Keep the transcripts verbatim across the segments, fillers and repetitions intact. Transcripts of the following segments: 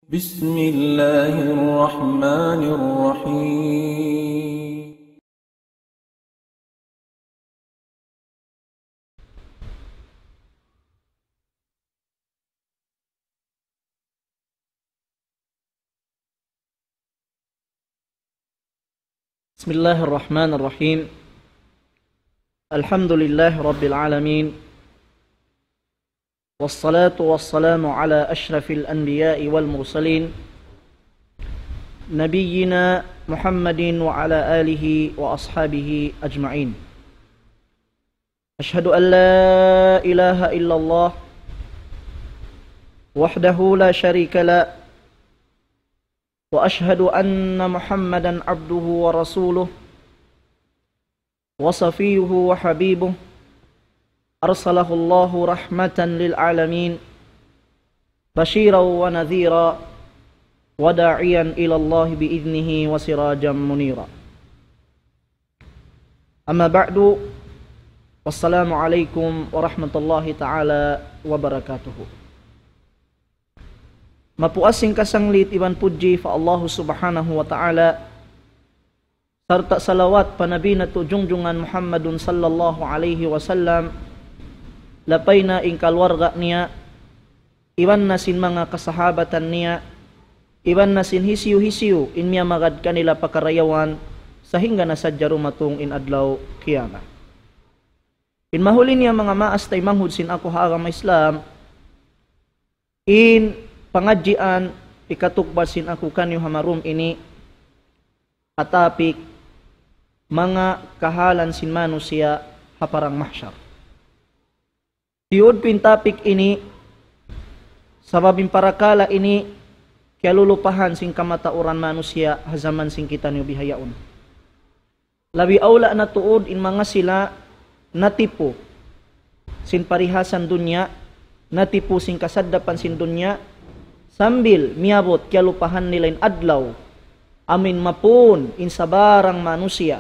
بسم الله الرحمن الرحيم. بسم الله الرحمن الرحيم. الحمد لله رب العالمين. والصلاة والسلام على أشرف الأنبياء والمرسلين، نبينا محمد وعلى آله وأصحابه أجمعين. أشهد أن لا إله إلا الله وحده لا شريك له، وأشهد أن محمدا عبده ورسوله، وصفيه وحبيبه، أرسله الله رحمة للعالمين، بشيرا ونذيرا، وداعيا إلى الله بإذنه وسراجا منيرا. أما بعد، والسلام عليكم ورحمة الله تعالى وبركاته. Mapuas sin kasanglit iban pudji pa Allahu Subhanahu wa Ta'ala, sarta' salawat pa Nabi natu' jungjungan Muhammadun sallallahu alayhi wasallam, lapay na in kaluarga niya, iban na sin manga kasahabatan niya, iban na sin hisiyu-hisiyu in miyamagad kanila pa karayawan, sahingga na sadja dumatung in adlaw kiyamat. In mahuli niya manga maas taymanghud sin aku ha agama Islam, in pangadjian hikatukbal sin aku kaniyu ha marum ini, ha topic manga kahalan sin manusiya' ha parang mahsyar. Tiyud ku in topic ini, sabab in parakala' ini kiyalulupahan sin kamatauran manusiya' ha jaman sin kitaniyu bihaun. Labi awla na tuud in manga sila natipu sin parihasan dunya, natipu sin kasaddapan sin dunya, sambil miyabut kiyalupahan nila in adlaw, amuin mapun in sabarang manusiya'.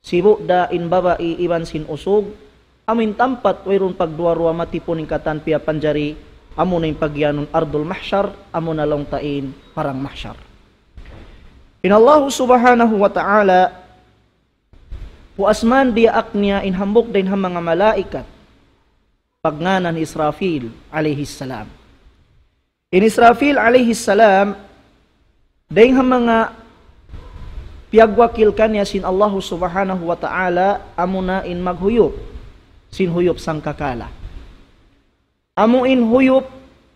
Sibu' da in babai iban sin usug, amuin tampat wayruun pagduwa-ruwa matipun in katan piyapanjari, amuna in pagiyanun ardul mahsyar, amuna laung ta in parang mahsyar. In Allahu Subhanahu wa Ta'ala, puas man diyaak niya in hambuuk dayn ha manga malaikat, pagngānan Israfil alayhi salam. In Israfil alayhi salam, dayn ha manga piyagwakil kaniya sin Allahu Subhanahu wa Ta'ala, amuna in maghuyup sin huyup sangkakala. Amu in huyup,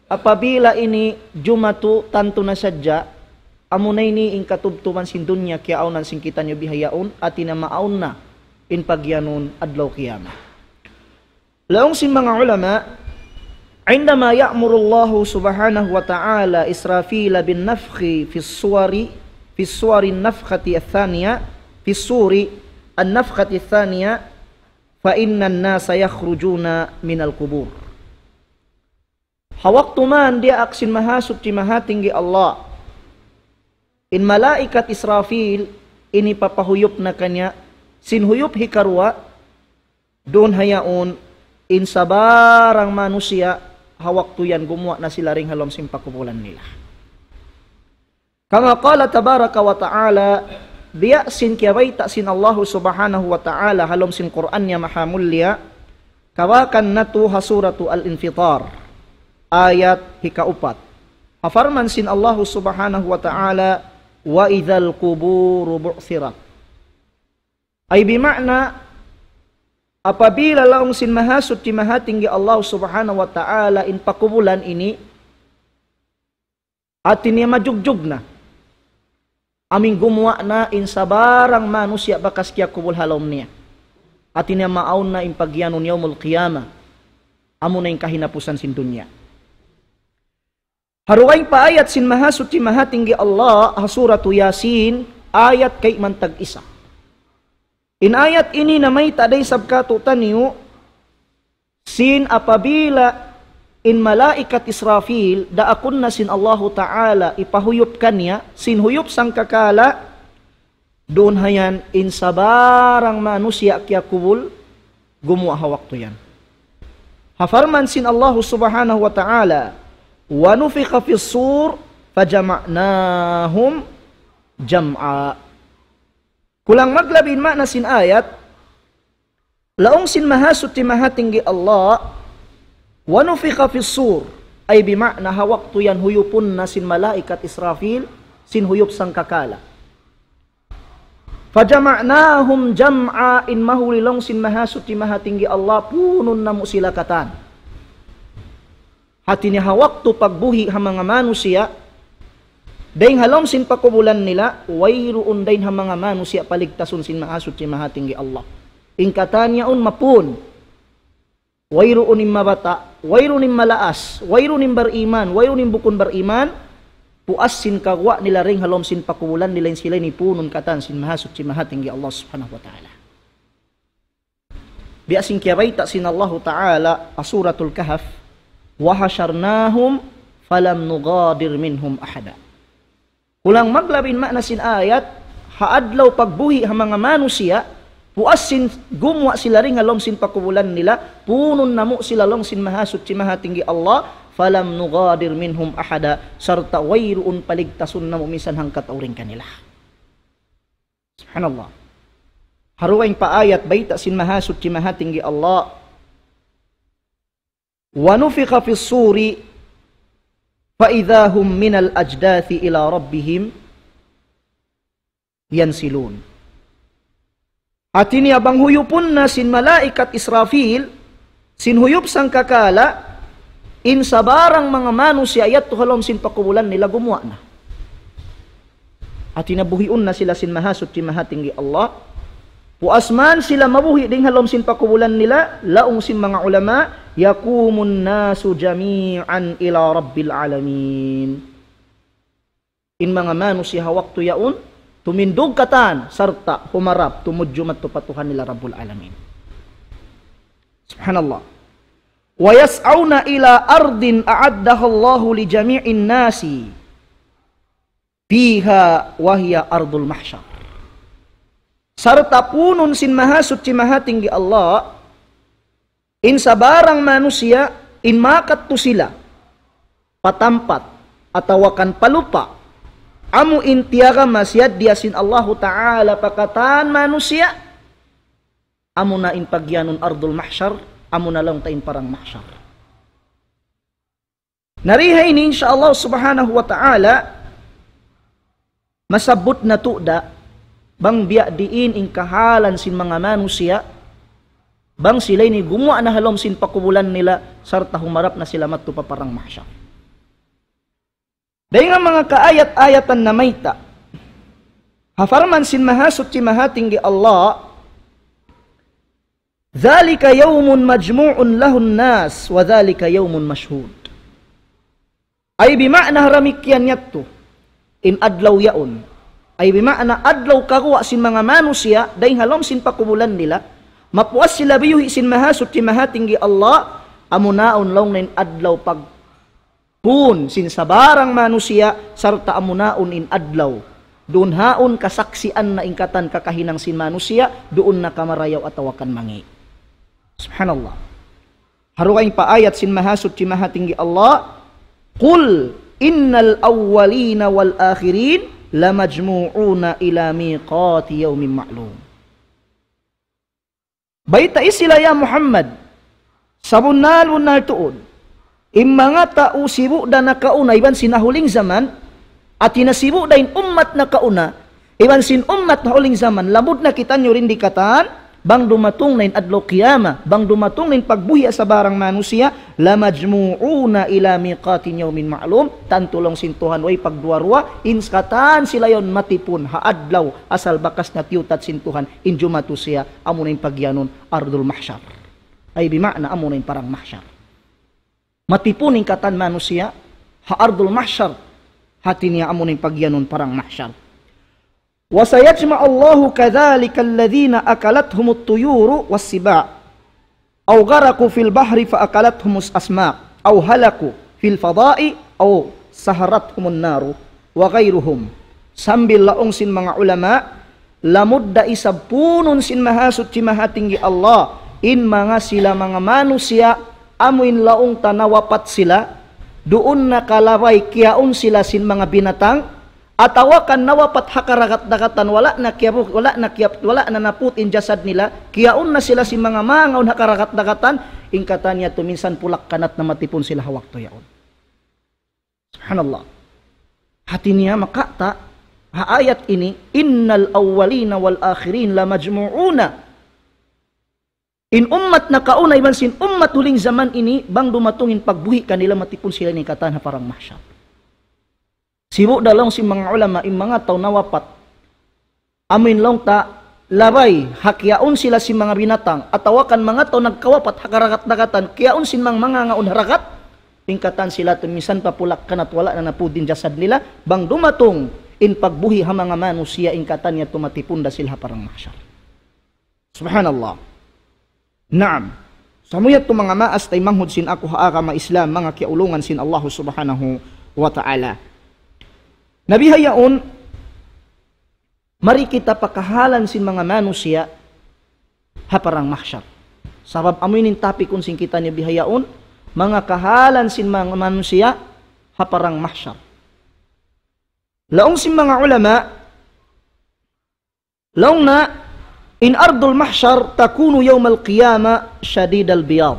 apabila ini jumatu tantu na sadja, amuna ini in katubtuban sin dunya kiyaawnan sin kitaniyu bihaun, hāti niya maawn na in pagiyanun adlaw kiyamat. Laung sin manga ulama, عندما يأمر الله سبحانه وتعالى إسرافيل بالنفخ في الصور، في الصور النفخة الثانية، في الصور النفخة الثانية، فإن الناس يخرجون من القبور. Ha waktu man diyaak sin Mahasuchi Mahatinggi Allah in malaikat Israfil, ini papahuyup na kaniya sin huyup hikaruwa, duun ha yaun in sabarang manusiya' ha waktu yan gumuwa' na sila dayn ha lawm sin pakubulan nila. كما قال تبارك وتعالى, biya' sin kiyabayta' sin Allahu Subhanahu wa Ta'ala ha lawm sin Qur'an niya mahamulliya, kawakan natu' ha Suratu Al-Infitar, ayat hikaupat. Ha parman sin Allahu Subhanahu wa Ta'ala, وإذا القبور بعثرت. Ay bima'na, apabila laung sin Mahasuchi Mahatinggi Allah Subhanahu wa Ta'ala in pakubulan ini, hāti niya majugjug na. Amuin gumuwa' na in sabarang manusiya' bakas kiyakubul ha lawm niya. Hāti niya maawn na in pagiyanun Yawmul Qiyamah. Amuna in kahinapusan sin dunya. Ha dugaing pa ayat sin Mahasuchi Mahatinggi Allah, ha Suratu Yasin, ayat kayman tag-isa. In ayat ini namayta' da isab kātu'niyu, sin apabila in malaikat Israfil, daakun na sin Allahu Ta'ala, hipahuyup kaniya, sin huyup sangkakala, duun ha yan in sabarang manusiya' kiyakubul, gumuwa' ha waktu yan. Ha parman sin Allahu Subhanahu wa Ta'ala, ونفخ في الصور فجمعناهم جمعا. Kulang maglabi in maana sin ayat, laung sin Mahasuchi Mahatinggi Allah, ونفخ في الصور, ay bima'na ha waktu yan huyupun na sin malaikat Israfil, sin huyup sangkakala. فجمعناهم جمعا, in mahuli laung sin Mahasuchi Mahatinggi Allah, punun namu' sila katan. Hati niya ha waktu pagbuhi' ha manga manusiya', dayng ha lawm sin pakubulan nila, wayruun dayng ha manga manusiya' paligtasun sin Mahasuchi Mahatinggi Allah. In katan yaun mapun. Wayruun in mabata', wayruun in malaas, wayruun in bariman, wayruun in bukun bariman, puas sin kaguwa' nila dayng ha lawm sin pakubulan nila in sila ini punun katan sin Mahasuchi Mahatinggi Allah Subhanahu wa Ta'ala. Biya' sin kiyabayta' sin Allahu Ta'ala ha Suratul Kahf, وحشرناهم فلم نغادر منهم أحدا. Kulang maglabi in maana sin ayat, ha adlaw pagbuhi' ha manga manusiya', puas sin gumuwa' sila dayng ha lawm sin pakubulan nila, punun namu' sila laung sin Mahasuchi Mahatinggi Allah, فلم نغادر منهم أحدا, sarta' wayruun paligtasun namu' minsan hangkatau dayng kanila. Subhanallah. Ha dugaing pa ayat bayta' sin Mahasuchi Mahatinggi Allah. ونفخ في الصور فإذا هم من الأجداث إلى ربهم ينسلون. Hati niya bang huyupun na sin malaikat Israfil, sin huyup sangkakala, in sabarang manga manusiya' yadtu ha lawm sin pakubulan nila gumuwa' na. Hati niya buhiun na sila sin Mahasuchi Mahatinggi Allah. Puas man sila mabuhi' dayng ha lawm sin pakubulan nila, laung sin manga ulama, يقوم الناس جميعا إلى رب العالمين. In manga manusiya' ha waktu yaun, tumindug katan, sarta' humarap, tumudju madtu pa Tuhan nila Rabbul Alamin. Subhanallah. ويسعون إلى أرض أعدها الله لجميع الناس فيها وهي أرض المحشر. Sarta' punun sin Mahasuchi Mahatinggi Allah, in sabarang manusiya', in makadtu sila pa tampat, atawa kan pa lupa', amu in tiyagama siyaddiya sin Allahu Ta'ala pa katan manusiya', amu na in pagiyanun Ardul Mahshar, amu na laung ta in parang mahshar. Na di ha ini, insya Allah Subhanahu wa Ta'ala, masabbut natu' da, bang biya' diin in kahalan sin manga manusiya', bang sila ini gumuwa' na ha lawm sin pakubulan nila, sarta' humarap na sila madtu pa parang mahshar. Dayn ha manga kaayat-ayatan namayta', ha parman sin Mahasuchi Mahatinggi Allah, ذلك يوم مجموع له الناس وذلك يوم مشهود. Ay bima'na damikkiyan yadtu, in adlaw yaun. Ay bima'na adlaw kaguwa' sin manga manusiya', dayn ha lawm sin pakubulan nila, mapuas sila biyuhi' sin Mahasuchi Mahatinggi Allah, amu na yaun laung niya in adlaw pag- pun sin sabarang manusiya', sarta' amu na yaun in adlaw. Duun ha yaun kasaksian na in katan kakahinang sin manusiya', duun na kamarayaw atawa kan mangi'. Subhanallah. Ha dugaing pa ayat sin Mahasuchi Mahatinggi Allah, قل إن الأولين والآخرين لمجموعون إلى ميقات يوم معلوم. Baytai sila, ya Muhammad, sabunnal-bunnal tuud, in manga tau sibu' da nakauna iban sin nahuling jaman, hati niya sibu' da in ummat nakauna iban sin ummat nahuling jaman, lamud na kitaniyu dayn di katan, bang dumatung na in adlaw qiyamah, bang dumatung na in pagbuhi' ha sabarang manusiya', لمجموعون إلى ميقات يوم معلوم, tantu laung sin Tuhan way pagduwa-ruwa, in katan sila yaun matipun ha adlaw asal bakas na tiyutat sin Tuhan, in jumatu siya, amu na in pagiyanun Ardul Mahshar. Ay bima'na amu na in parang mahshar. Matipun in katan manusiya' ha Ardul Mahshar, hati niya amu na in pagiyanun parang mahshar. وسيجمع الله كذلك الذين أكلتهم الطير والسباع أو غرقوا في البحر فأكلتهم الأسماك أو هلكوا في الفضاء أو سهرتهم النار وغيرهم. Sambil laung sin manga ulama, lamud da isab punun sin Mahasuchi Mahatinggi Allah, in manga sila manga manusiya', amu in laung ta nawapat sila, duun na kalabay kiyaun sila sin manga binatang, atawa kan nawapat ha karagat-dagatan, wala' na kiyabu-, wala' na kiyap-, wala' na naput in jasad nila, kiyaun na sila sin manga mangaun ha karagat-dagatan, in katan yadtu minsan pulak-kanat na matipun sila ha waktu yaun. Subhanallah. Hati niya maka ta, ha ayat ini, إن الأولين والآخرين لمجموعون. In ummat nakauna iban sin ummat huling jaman ini, bang dumatung in pagbuhi' kanila matipun sila ini katan ha parang mahsyar. Sibu' da laung sin manga ulama, in manga tau nawapat, amuin laung ta, labay, ha kiyaun sila sin manga binatang, atawa kan manga tau nagkawapat ha karagat-dagatan, kiyaun sin manga mangaun ha ragat, in katan sila yadtu minsan pa pulak-kanat wala' na napud in jasad nila, bang dumatung in pagbuhi' ha manga manusiya' in katan yadtu matipun da sila ha parang mahsyar. Subhanallah. Naam. Sa' amu yadtu manga maas taymanghud sin aku ha agama Islam, manga kiyaulungan sin Allah Subhanahu wa Ta'ala. Na bihaun, mari kita pa kahalan sin manga manusiya' ha parang mahsyar. Sabab amu ini in topic sin kitaniyu bihaun, manga kahalan sin manga manusiya' ha parang mahsyar. Laung sin manga ulama, laung na, in ardul mahsyar takunu yawmal qiyamah shadidal biyad.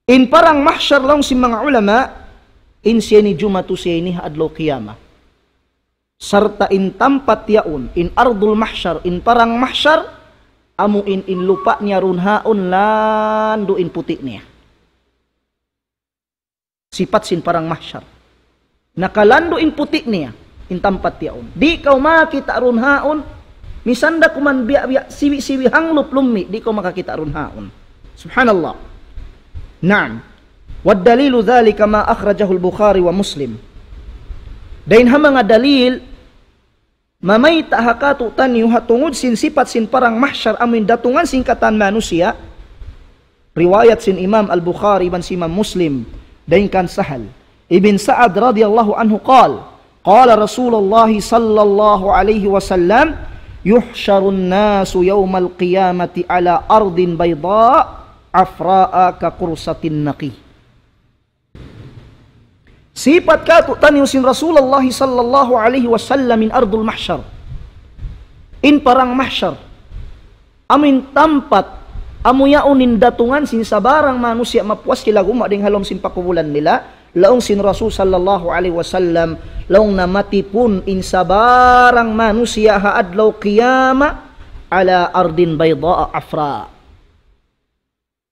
In parang mahsyar laung sin manga ulama, in siya ini jumatu siya ini ha adlaw qiyamah. Sarta' in tampat yaun, in ardul mahsyar, in parang mahsyar, amu in, in lupa' niya duun haun landu' in puti' niya. Sipat sin parang mahsyar. Nakalandu' in puti' niya, in tampat yaun. Di' kaw makakita' duun haun, misan da kuman biya'-biya' siwi-siwi hanglup lummi', di' kaw makakita' duun haun. Subhanallah. Naam. والدليل ذلك ما أخرجه البخاري ومسلم. Dayn ha manga dalil, mamayta' ha kātu'niyu ha tungud sin sipat sin parang mahsyar amuin datungan sin katan manusiya'. Riwayat sin Imam Al-Bukhari iban sin Imam Muslim, dayn kan Sahal ibn Sa'ad radiyallahu anhu qal, قال رسول الله صلى الله عليه وسلم: يحشر الناس يوم القيامة على أرض بيضاء عفراء كقرصة النقي. Sipat kātu'niyu sin Rasulullah sallallahu alayhi wasallam in ardul mahsyar. In parang mahsyar. Amuin tampat, amu yaun in datungan sin sabarang manusiya' mapuas sila gumma' dayn ha lawm sin pakubulan nila. Laung sin Rasul sallallahu alayhi wasallam, laung na matipun in sabarang manusiya' ha adlaw qiyamah, على أرض بيضاء عفراء.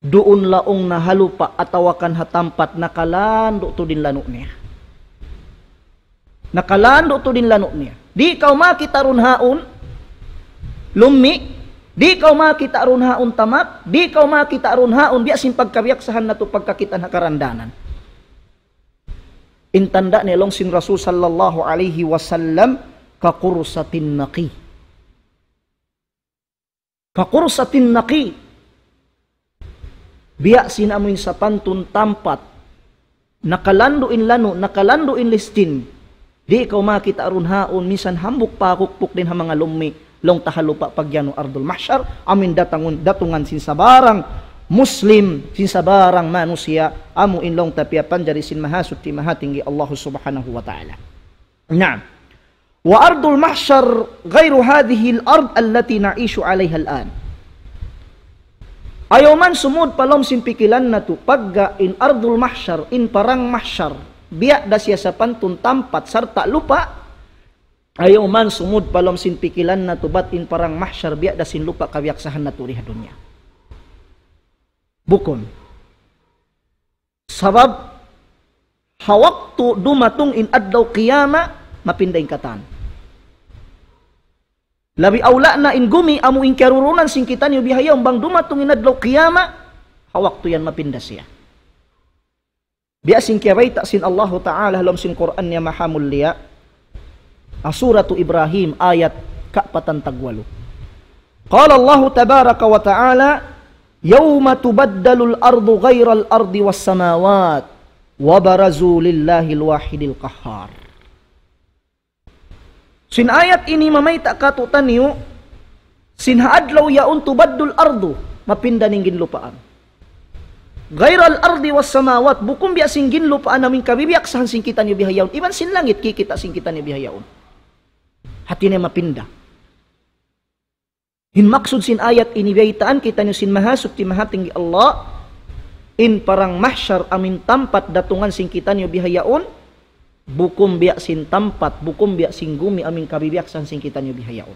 Duun laung na ha lupa' atawa kan ha tampat nakalandu' tuud in lanu' niya. Nakalandu' tuud in lanu' niya. Di' kaw makakita' duun haun, lummi', di' kaw makakita' duun haun tamak, di' kaw makakita' duun haun biya' sin pagkabiyaksahan natu' pagkakitaan ha karandanan. In tanda' niya laung sin Rasul sallallahu alayhi wasallam, كقرصة النقي. كقرصة النقي. Biya' sin amuin sapantun tampat. Nakalandu' in lanu', nakalandu' in listin. Di' kaw makakita' duun haun, minsan hambuuk pakukpuk dayn ha manga lummi', laung ta ha lupa' pagiyanun ardul mahsyar, amuin datungan, datungan sin sabarang Muslim, sin sabarang manusiya', amuin laung ta piyapanjari sin Mahasuchi Mahatinggi Allah Subhanahu wa Ta'ala. Naam. وأرض المحشر غير هذه الأرض التي نعيش عليها الآن. Ayaw man sumud pa lawm sin pikilan natu', pagga in ardul mahsyar, in parang mahsyar, biya' da siya sapantun tampat sarta' lupa', ayaw man sumud pa lawm sin pikilan natu', bat in parang mahsyar, biya' da sin lupa' kabiyaksahan natu' di ha dunya. Bukun. Sabab, ha waktu dumatung in adlaw qiyamah, mapinda in katan. Labi awla na in gumi amu in kiyarurunan sin kitaniyu bihaun bang dumatung in adlaw qiyamah, ha waktu yan mapinda siya. Biya' sin kiyabayta' sin Allahu Ta'ala ha lawm sin Qur'an niya mahamulliya. Ha Suratu Ibrahim ayat kaapatan tagwalu. قال الله تبارك وتعالى: يوم تبدل الأرض غير الأرض والسماوات وبرزوا لله الواحد القهار. Sin ayat ini mamayta' kātu'niyu, sin ha adlaw yaun تبدل الأرض, mapinda in ginlupaan. غير الأرض والسماوات, bukun biya' sin ginlupaan amu in kabibiyaksahan sin kitaniyu bihaun. Iban sin langit kikita' sin kitaniyu bihaun. Hati niya mapinda. In maksud sin ayat ini, biyaytaan kitaniyu sin Mahasuchi Mahatinggi Allah, in parang mahsyar amu in tampat datungan sin kitaniyu bihaun, bukun biya' sin tampat, bukun biya' sin gumi amu in kabibiyaksahan sin kitaniyu bihaun.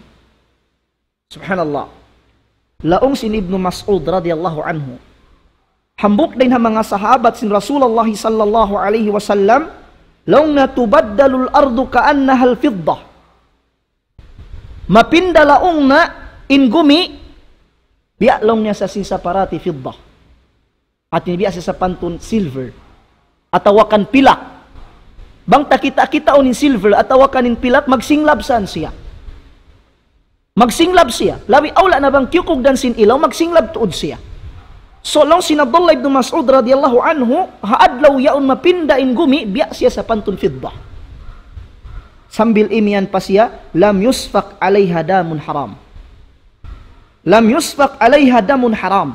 Subhanallah. Laung sin Ibnu Mas'ud radiyallahu anhu, hambuuk dayn ha manga sahabat sin Rasulullah sallallahu alayhi wasallam, laung niya, تبدل الأرض كأنها الفضة. Mapinda laung niya in gumi, biya' laung niya sa sin saparati fidda. Hati niya biya' sa sapantun silver. Atawa kan pilak. Bang ta kita'-kitaun in silver, atawa kan in pilak, magsinglab saan siya. Magsinglab siya. Labi awla na bang kiyukugdan sin ilaw, magsinglab tuud siya. So, laung sin Abdullah ibn Mas'ud radiyallahu anhu, ha adlaw yaun mapinda in gumi, biya' siya sapantun fidda. Sambil imiyan pa siya, لم يسفك عليها دم حرام. لم يسفك عليها دم حرام.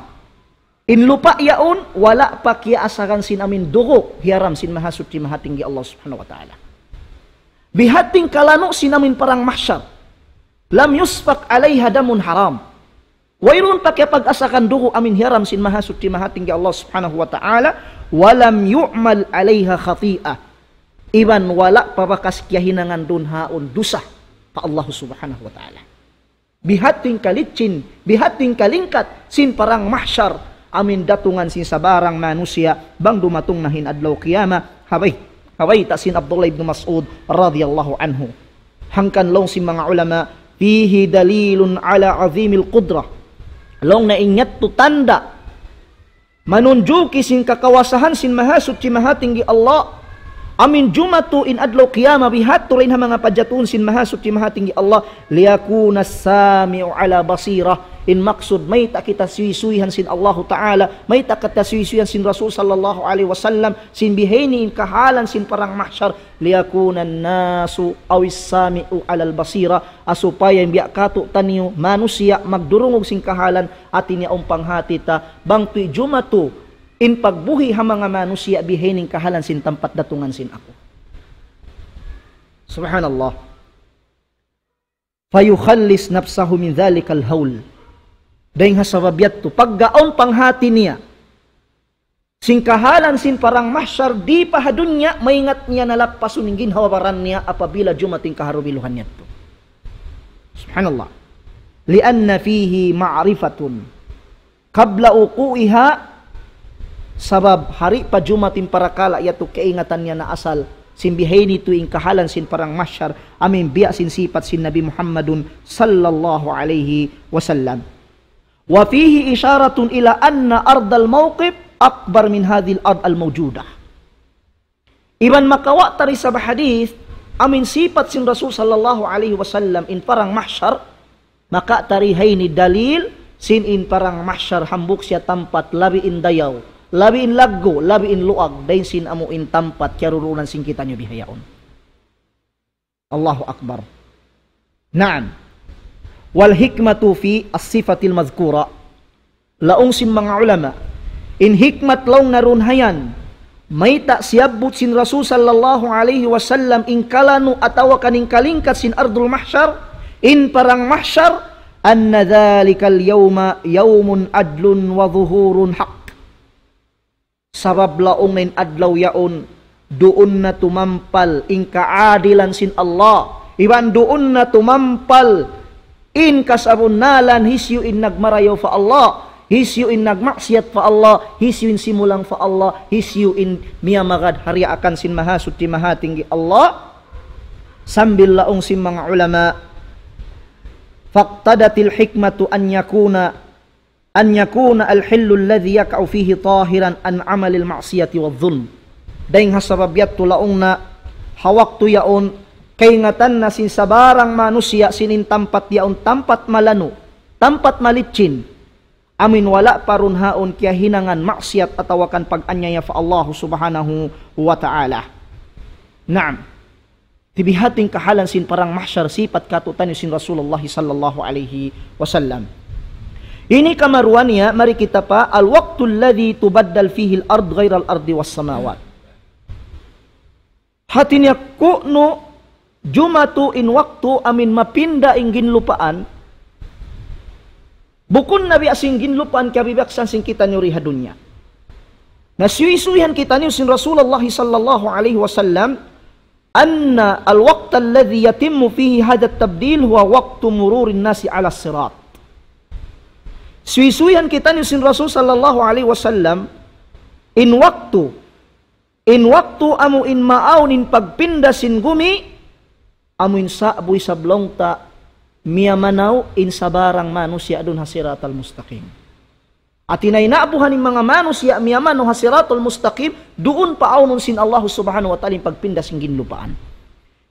In lupa' yaun, wala' pa kiyaasaran sin amu in dugu' hiyaram sin Mahasuchi Mahatinggi Allah Subhanahu wa Ta'ala. Bihating kalanu' sin amu in parang mahsyar. لم يسفك عليها دم حرام. Wayruun pa kiyapag-asaran dugu' amu in hiyaram sin Mahasuchi Mahatinggi Allah Subhanahu wa Ta'ala, ولم يعمل عليها خطيئة. Iban wala' pa bakas kiyahinangan duun haun dusa pa Allah Subhanahu wa Ta'ala. Bihating kalicin, bihating kalingkat sin parang mahsyar, amu in datungan sin sabarang manusiya', bang dumatung na in adlaw qiyamah, ha bay-, ha bayta' sin Abdullah ibn Mas'ud radiyallahu anhu. Hangkan laung sin manga ulama, فيه دليل على عظيم القدرة. Laung niya in yadtu tanda', manunjuki sin kakawasahan sin Mahasuchi Mahatinggi Allah. Amu in jumatu in adlaw qiyamah, bihadtu dayn ha manga pajatuhun sin Mahasuchi Mahatinggi Allah. ليكون السامع على بصيرة. In maksud, mayta' kita suysuyan sin Allahu Ta'ala, mayta' kita suysuyan sin Rasul sallallahu alayhi wasallam, sin bihaini in kahalan sin parang mahsyar, ليكون الناس أو السامع على البصيرة, ha supaya in biya' katu'taniyu manusiya' magdurungug sin kahalan, hati niya awn panghati ta, bang tuud jumatu in pagbuhi' ha manga manusiya' bihaini in kahalan sin tampat datungan sin aku. Subhanallah. فيخلص نفسه من ذلك الهول. Dayng ha sabab yadtu, pagga awn panghati niya sin kahalan sin parang mahsyar di pa ha dunya, maingat niya na lappasun in ginhawa-baran niya apabila jumatu in kaharubiluhan yadtu. Subhanallah. لأن فيه معرفة قبل وقوعها, sabab ha di' pa jumatu in parakala' yadtu kaingatan niya na asal sin bihaini tuud in kahalan sin parang mahsyar, amu in biya' sin sipat sin Nabi Muhammadun sallallahu alayhi wasallam. وفيه إشارة إلى أن أرض الموقف أكبر من هذه الأرض الموجودة. Iban makawa' ta dayn ha hadith, amu in sipat sin Rasul sallallahu alayhi wasallam in parang mahsyar, makawa' ta dayn ha ini dalil sin in parang mahsyar hambuuk siya tampat labi in dayaw, labi in laggu', labi in luag, dayn sin amu in tampat kiyarurunan sin kitaniyu bihaun. Allahu Akbar. Naam. والحكمة في الصفة المذكورة. Laung sin manga ulama, in hikmat laung niya duun ha yan, mayta' siyabbut sin Rasul sallallahu alayhi wasallam in kalanu' atawa kan in kalingkat sin ardul mahsyar, in parang mahsyar, أن ذلك اليوم يوم عدل وظهور حق. Sabab laung niya in adlaw yaun, duun na tumampal in kaadilan sin Allah. Iban duun na tumampal in kasabunnalan, hisiyu in nagmarayaw pa Allah, hisiyu in nagmaksiyat pa Allah, hisiyu in simulang pa Allah, hisiyu in miyamagad ha diyaakan sin Mahasuchi Mahatinggi Allah. Sambil laung sin manga ulama, فاقتضت الحكمة أن يكون أن يكون الحل الذي يقع فيه طاهرا عن عمل المعصية والظلم. Dayng ha sabab yadtu laung niya, ha waktu yaun, kaingatan na sin sabarang manusiya' sin in tampat yaun tampat malanu', tampat malicin, amu in wala' pa duun haun kiyahinangan maksiyat atawa kan pag-anyaya pa Allah Subhanahu wa Ta'ala. Naam. Ti bihating kahalan sin parang mahsyar sipat katu'taniyu sin Rasulullah sallallahu alayhi wasallam. Ini kamaruwa niya, mari kita pa, الوقت الذي تبدل فيه الأرض غير الأرض والسماوات. Hati niya kunu' jumatu in waktu amin mapinda in ginlupaan, bukun na biya' sin ginlupaan kabibiyaksahan sin kitaniyu di ha dunya. Na suysuyan kitaniyu sin Rasulullah sallallahu alayhi wasallam, أن الوقت الذي يتم فيه هذا التبديل هو وقت مرور الناس على الصراط. Suysuyan kitaniyu sin Rasul sallallahu alayhi wasallam, in waktu, in waktu amu in maawn in pagpinda sin gumi, amu in sa'bu isab laung ta miyamanaw in sabarang manusiya' duun ha siratal mustaqim. Hati niya in a'buhan in manga manusiya' miyamanaw ha siratal mustaqim, duun paawnun sin Allah subhanahu wa ta'ala in pagpinda sin ginlupaan.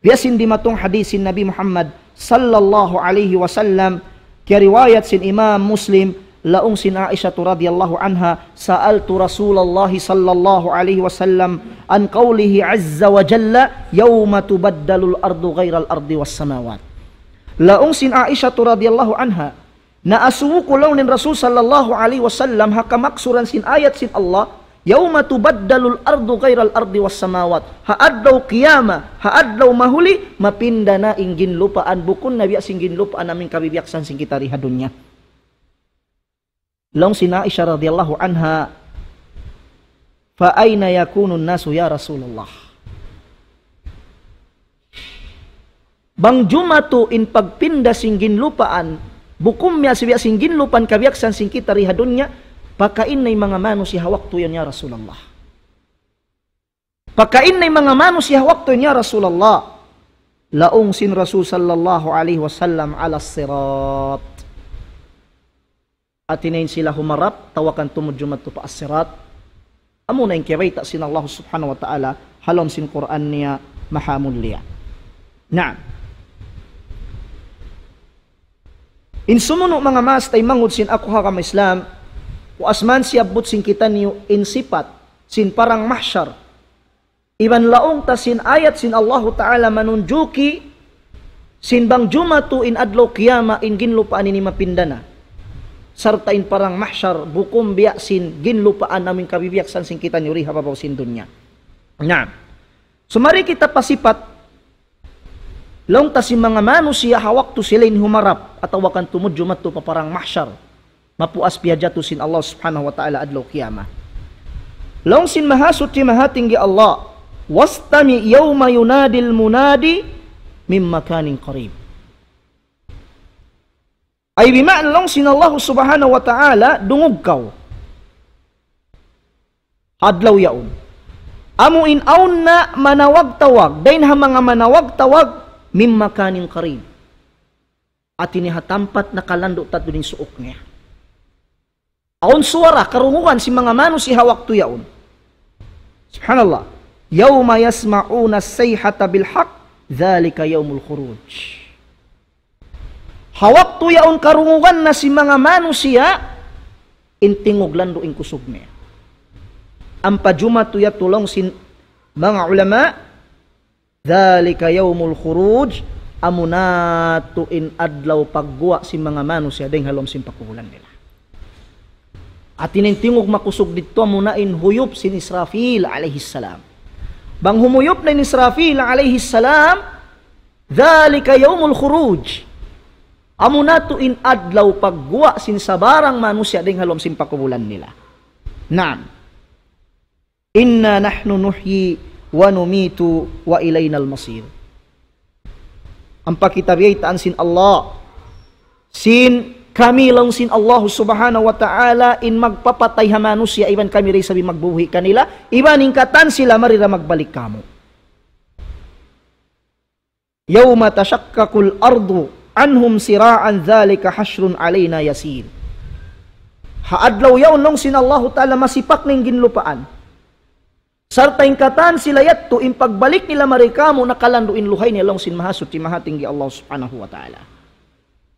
Biya' sin dimatung hadith sin Nabi Muhammad sallallahu alayhi wasallam, kiyariwayat sin Imam Muslim, laung sin Aisha radhiyallahu anha, سألت رسول الله صلى الله عليه وسلم عن قوله عز وجل يوم تبدل الأرض غير الأرض والسماوات. Laung sin Aisha radhiyallahu anha, naasubu ku laung niya in Rasul sallallahu alayhi wasallam ha kamaksuran sin ayat sin Allah, يوم تبدل الأرض غير الأرض والسماوات. Ha adlaw qiyamah, ha adlaw mahuli, mapinda na in ginlupaan, bukun na biya' sin ginlupaan amin kabibiyaksahan sin kita di ha dunya. Laung sin Aisha radhiyallahu anha, فأين يكون الناس يا رسول الله؟ Bang jumatu in pagpinda sin ginlupaan, bukun biya' sin ginlupaan kabiyaksahan sin kita di ha dunya, pakain na in manga manusiya' ha waktu yan ya Rasulullah? Pakain na in manga manusiya' ha waktu yan ya Rasulullah? Laung sin Rasul sallallahu alayhi wasallam, على الصراط. Hati niya in sila humarap, tawakan tumud jumatu pa as-sirat. Amuna in kiyabayta' sin Allah subhanahu wa ta'ala, ha lawm sin Qur'an niya maha mulia. Naam. In sumunu' manga maas taymanghud sin aku ha agama Islam, wa asman siyabbut sin kitaniyu in sipat, sin parang mahsyar, iban laung ta sin ayat sin Allahu Ta'ala manunjuki sin bang jumatu in adlaw qiyamah in ginlupaan ini mapinda na. Sarta' in parang mahsyar bukun biya' sin ginlupaan amin kabibiyaksahan sin kitaniyu di ha babaw sin dunya. Naam. Sumari kita pa sipat, laung ta sin manga manusiya' ha waktu sila in humarap atawa kan tumud jumatu pa parang mahsyar. Mapuas piyajatu sin Allah subhanahu wa ta'ala adlaw qiyamah. Laung sin Mahasuchi Mahatinggi Allah, واستمع يوم ينادي المنادي من مكان قريب. Ay bima'na laung sin Allah subhanahu wa ta'ala, dungug kaw. Adlaw yaun. Amu in awn na manawag-tawag, dayn ha manga manawag-tawag, من مكان قريب. Hati niya ha tampat nakalandu' tatu in suuk niya. Awn suwara, karungugan sin manga manusiya' ha waktu yaun. Subhanallah. يوم يسمعون الصيحة بالحق ذلك يوم الخروج. Ha waktu yaun karungugan na sin manga manusiya', in tingug landu' in kusug niya. Ampa jumatu yadtu laung sin manga ulama, ذلك يوم الخروج, amuna tuud in adlaw pagguwa' sin manga manusiya' dayn ha lawm sin pakubulan nila. Hati niya in tingug makusug didtu amuna in huyup sin Israfil alayhi salam. Bang humuyup na in Israfil alayhi salam, ذلك يوم الخروج. Amuna tuud in adlaw pagguwa' sin sabarang manusiya' dayn ha lawm sin pakubulan nila. Naam. إنا نحن نحيي ونميت وإلينا المصير. Ampa kita biyaytaan sin Allah. Sin kami laung sin Allah subhanahu wa ta'ala in magpapatay ha manusiya' iban kami da isab in magbubuhi' kanila, iban in katan sila mari da magbalik kāmu'. يوم تشقق الأرض عنهم سراعا ذلك حشر علينا يسير. Ha adlaw yaun laung sin Allahu Ta'ala masipak na in ginlupaan. Sarta' in katan sila yadtu, in pagbalik nila mari kāmu' nakalandu' in luhay nila laung sin Mahasuchi Mahatinggi Allah Subhanahu wa Ta'ala.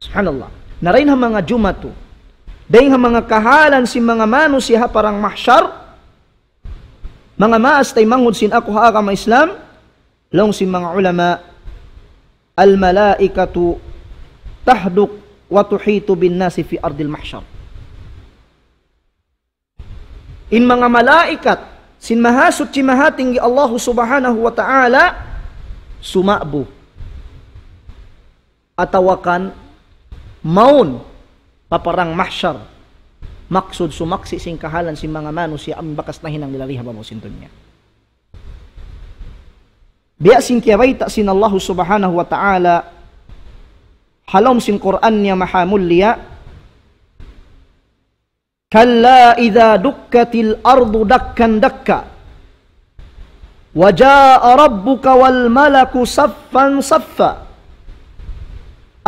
Subhanallah. Na dayn ha manga jumatu, dayn ha manga kahalan sin manga manusiya' ha parang mahsyar, manga maas taymanghud sin aku ha agama Islam, laung sin manga ulama, الملائكة تحدق وتحيط بالناس في أرض المحشر. In manga malaikat sin Mahasuchi Mahatinggi Allahu Subhanahu wa Ta'ala suma'bu atawa kan mawn pa parang mahsyar. Maksud sumaksi' sin kahalan sin manga manusiya' amun bakas nahinang nila di ha babaw sin dunya. Biya' sin kiyabayta' sin Allahu Subhanahu wa Ta'ala ha lawm sin Qur'an niya mahamulliya, كلا إذا دكت الأرض دكا دكا وجاء ربك والملك صفا صفا.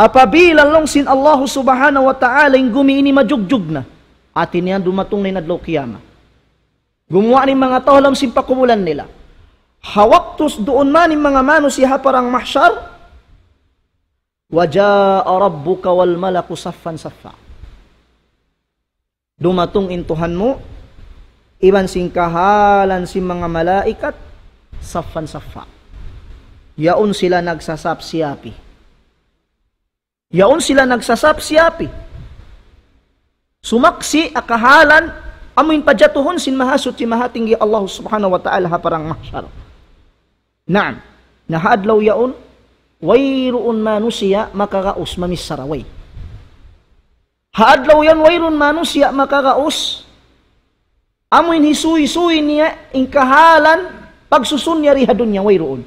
Apabila laung sin Allahu Subhanahu wa Ta'ala in gumi ini majugjug na. Hati niya dumatung na in adlaw kiyamat. Gumuwa' na in manga tau ha lawm sin pakubulan nila. Ha waktu duun man in manga manusiya' ha parang mahsyar, وجاء ربك والملك صفا صفا. Dumatung in Tuhan mu, iban sin kahalan sin manga malaikat, saffan saffa. Yaun sila nagsasap-siyapi. Yaun sila nagsasap-siyapi. Sumaksi' ha kahalan, amuin pajatuhun sin Mahasuchi Mahatinggi Allah Subhanahu wa Ta'ala ha parang mahsyar. Naam, na ha adlaw yaun, wayruun manusiya' makagaus mamichara, way. Ha adlaw yan wayruun manusiya' makagaus, amuin hisuy-suy niya in kahalan pagsusun niya di ha dunya, wayruun.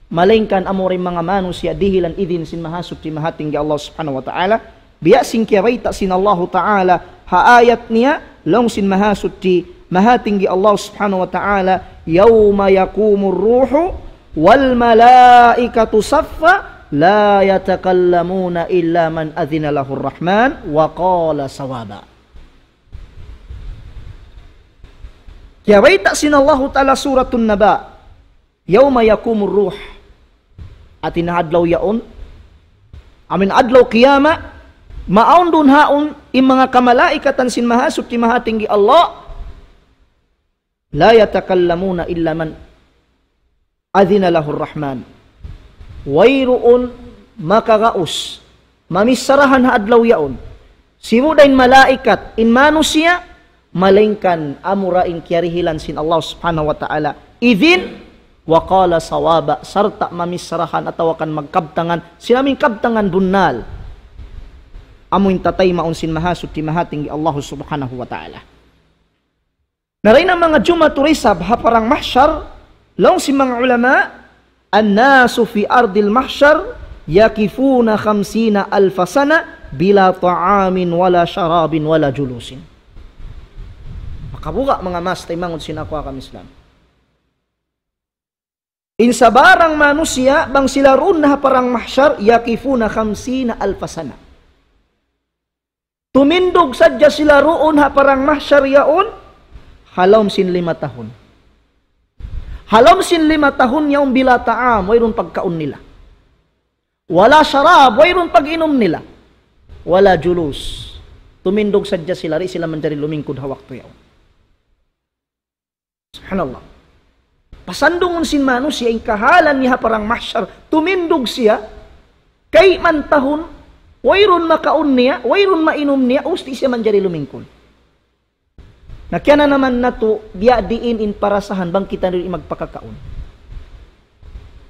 Malaingkan amura in manga manusiya' dihilan idin sin Mahasuchi Mahatinggi Allah Subhanahu wa Ta'ala, biya' sin kiyabayta' sin Allahu Ta'ala ha ayat niya, laung sin Mahasuchi Mahatinggi Allah Subhanahu wa Ta'ala, يوم يقوم الروح والملائكة صفا لا يتكلمون إلا من أذن له الرحمن وقال صوابا. Kiyabayta' sin Allahu Ta'ala Suratun Naba, يوم يقوم الروح. Hati niya ha adlaw yaun, amuin adlaw kiyamat, maawn duun haun in manga kamalaikatan sin Mahasuchi Mahatinggi Allah, لا يتكلمون إلا من أذن له الرحمن. Wayruun makagaus mamicharahan ha adlaw yaun, sibu' da in malaikat, in manusiya', malaingkan amura in kiyarihilan sin Allah Subhanahu wa Ta'ala idin, وقال صوابا, sarta' mamicharahan atawa kan magkabtangan sin amuin kabtangan bunnal, amuin tataymaun sin Mahasuchi Mahatinggi Allah Subhanahu wa Ta'ala. Na dayn ha manga jumatu da isab ha parang mahsyar, laung sin manga ulama, الناس في أرض المحشر يقفون خمسين ألف سنة بلا طعام ولا شراب ولا جلوس. Makabuga' manga maas taymanghud sin aku agama Islam. In sabarang manusiya', bang sila duun na ha parang mahsyar, يقفون خمسين ألف سنة. Tumindug sadja sila duun ha parang mahsyar yaun, ha lawm sin lima tahun. Ha lawm sin lima tahun yaun بلا طعام, wayruun pagkaun nila. ولا شراب, wayruun pag-inum nila. ولا جلوس. Tumindug sadja sila, di' sila manjari lumingkud ha waktu yaun. Subhanallah. Pasandungun sin manusiya' in kahalan niya ha parang mahsyar, tumindug siya, kayman tahun, wayruun makaun niya, wayruun mainum niya, ubus di' siya manjari lumingkud. Na kiyananaman natu', biya' diin in parasahan bang kitaniyu di' magpakakaun.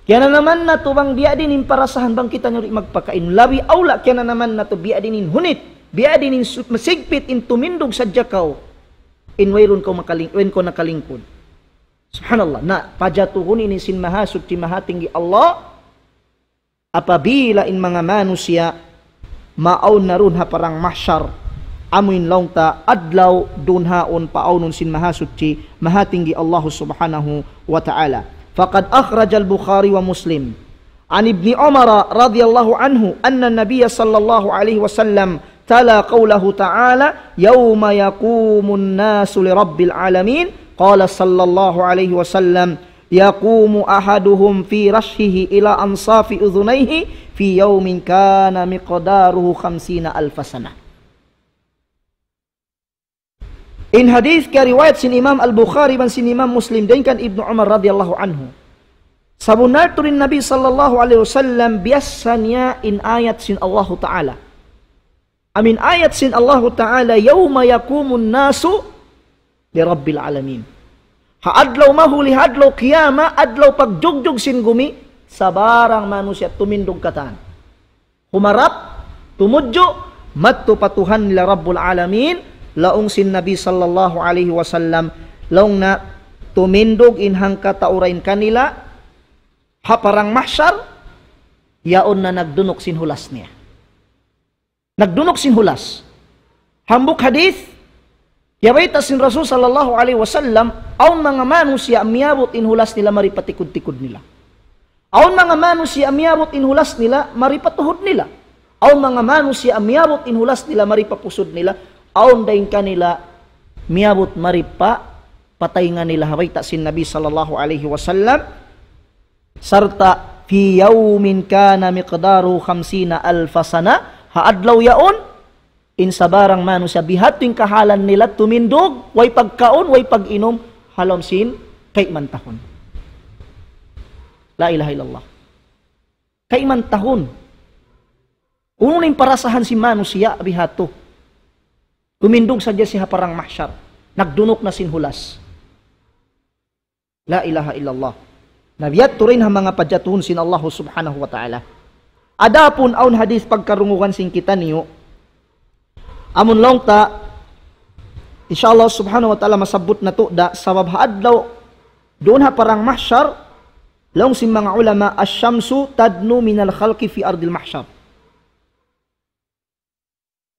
Kiyananaman natu' bang biya' diin in parasahan bang kitaniyu di' magpakaun. Labi awla kiyananaman natu' biya' diin in hunit, biya' diin in su-, masigpit in tumindug sadja kaw in wayruun kaw makaling-, wayruun kaw nakalingkud. Subhanallah. Na, pajatuhun ini sin Mahasuchi Mahatinggi Allah, apabila in manga manusiya' maawn na duun ha parang mahsyar, amuin laung ta adlaw duun haun paawnun sin Mahasuchi Mahatinggi Allah Subhanahu wa Ta'ala. فقد أخرج البخاري ومسلم عن ابن عمر رضي الله عنه أن النبي صلى الله عليه وسلم تلا قوله تعالى: يوم يقوم الناس لرب العالمين، قال صلى الله عليه وسلم: يقوم أحدهم في رأسه إلى أنصاف أذنيه في يوم كان مقداره خمسين ألف سنة. In hadith kariwayat sin Imam Al-Bukhari iban sin Imam Muslim dayn kan Ibnu Umar radiyallahu anhu. Sabunnal tuud in Nabi sallallahu alayhi wasallam biyassa niya in ayat sin Allahu Ta'ala. Amu in ayat sin Allahu Ta'ala, يوم يقوم الناس لرب العالمين. Ha adlaw mahuli, ha adlaw qiyamah, adlaw pagjugjug sin gumi, sabarang manusiya' tumindug katan. Humarap, tumudju', madtu pa Tuhan nila Rabbul Alamin, laung sin Nabi sallallahu alayhi wasallam, laung niya tumindug in hangkatau dayn kanila, ha parang mahsyar, yaun na nagdunuk sin hulas niya. Nagdunuk sin hulas. Hambuuk hadith, kiyabayta' sin Rasul sallallahu alayhi wasallam, awn manga manusiya' miyabut in hulas nila mari pa tikud-tikud nila. Awn manga manusiya' miyabut in hulas nila mari pa tuhud nila. Awn manga manusiya' miyabut in hulas nila mari pa pusud nila. Awn dayn kanila miyabut mari pa pataynga nila, ha bayta' sin Nabi sallallahu alayhi wasallam. Sarta' في يوم كان مقداره خمسين ألف سنة, ha adlaw yaun, in sabarang manusiya' bihadtu in kahalan nila tumindug, way pagkaun, way pag-inum, ha lawm sin kayman tahun. La ilaha illallah. Kayman tahun. Unu in parasahan sin manusiya' bihadtu. Tumindug sadja siya ha parang mahsyar. Nagdunuk na sin hulas. La ilaha illallah. Na biya' tuud in ha manga pajatuhun sin Allah subhanahu wa ta'ala. Adapun awn hadith pagkarungugan sin kitaniyu, amun laung ta, insya Allah subhanahu wa ta'ala masabbut natu' da, sabab ha adlaw duun ha parang mahsyar, laung sin manga ulama, الشمس تدنو من الخلق في أرض المحشر.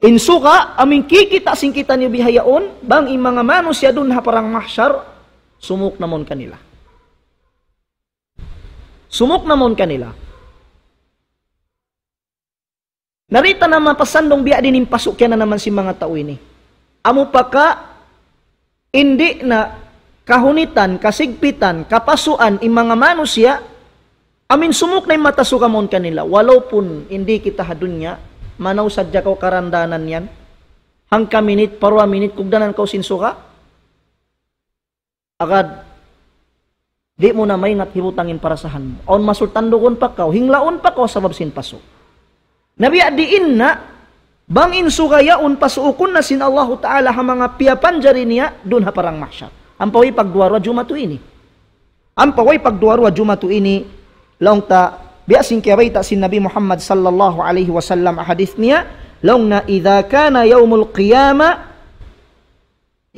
In suga, amu in kikita' sin kitaniyu bihaun, bang in manga manusiya' duun ha parang mahsyar, sumuk na mawn kanila. Sumuk na mawn kanila. Na di' ta na mapasandung biya' diin in pasu' kiyananaman sin manga tau ini. Amu pa ka, di' na kahunitan, kasigpitan, kapasuan in manga manusiya', amu in sumuk na in mata suga mawn kanila. Walaupun di' kita ha dunya, manaw sadja kaw karandanan yan. Hangka minit, paruwa minit, kugdanan kaw sin suga. Agad, di' mu na maingat hibutang in parasahan mu. Awn masul tandugun pa kaw, hinglaun pa kaw sabab sin pasu'. Na biya' diin na, bang in suga yaun pasuukun na sin Allahu Ta'ala ha manga piyapanjari niya, duun ha parang mahsyar. Ampa way pagduwa-ruwa jumatu ini. Ampa way pagduwa-ruwa jumatu ini, laung ta, biya' sin kiyabayta' sin Nabi Muhammad sallallahu alayhi wasallam ha hadith niya, laung niya, إذا كان يوم القيامة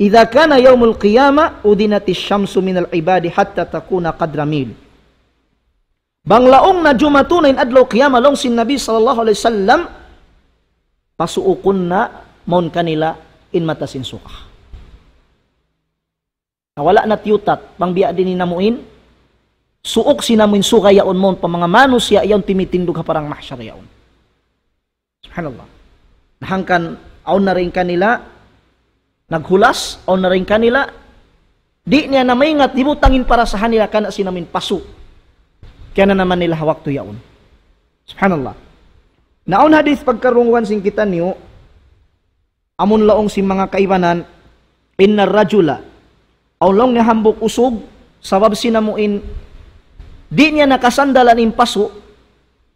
إذا كان يوم القيامة أدنت الشمس من العباد حتى تكون قدر ميل. Bang laung na jumatu na in adlaw qiyamah, laung sin Nabi sallallahu alayhi wasallam, pasuukun na mawn kanila in mata sin suga. Na wala' na tiyutat, bang biya' diin in amu in, suuk sin amu in suga yaun mawn pa manga manusiya' yaun timitindug ha parang mahsyar yaun. Subhanallah. Na hangkan, awn na dayn kanila naghulas, awn na dayn kanila, di' niya na maingat, hibutang in parasahan nila karna' sin amu in pasu' kiyananaman nila ha waktu yaun. Subhanallah. Na awn hadith pagkarungugan sin kitaniyu, amun laung sin manga kaibanan, إن الرجل, awn laung niya hambuuk usug, sabab sin amu in, di' niya na kasandalan in pasu',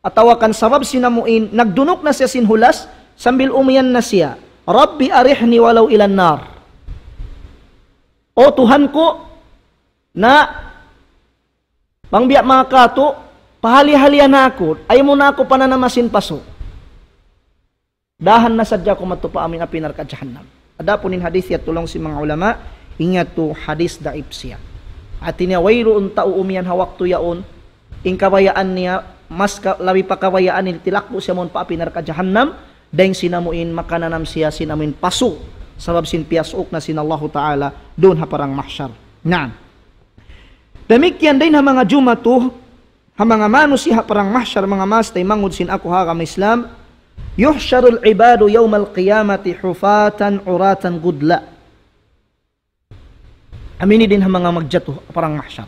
atawa kan sabab sin amu in, nagdunuk na siya sin hulas, sambil umiyan na siya, رب أرحني ولو إلى النار. O Tuhan ku, na, bang biya' manga katu', pahali-halian na aku, ayaw mu na aku pananama sin pasu'. Dahan na sadja aku madtu pa amu in api narka' jahannam. Adapun in hadith yadtu laung sin manga ulama, in yadtu hadith daif siya. Hati niya wayruun tau umiyan ha waktu yaun, in kabayaan niya, mas ka-, labi pa kabayaan niya tilakbu' siya mawn pa api narka' jahannam, dayn sin amu in makananam siya sin amu in pasu', sabab sin piyasuuk na sin Allahu Ta'ala, duun ha parang mahsyar. Naam. Damikkiyan dayn ha manga jumatu, ha manga manusiya' ha parang mahsyar, manga maas taymanghud sin aku ha agama Islam, يحشر العباد يوم القيامة حفاة عراة غرلا. Amu ini dayn ha manga magjatu ha parang mahsyar.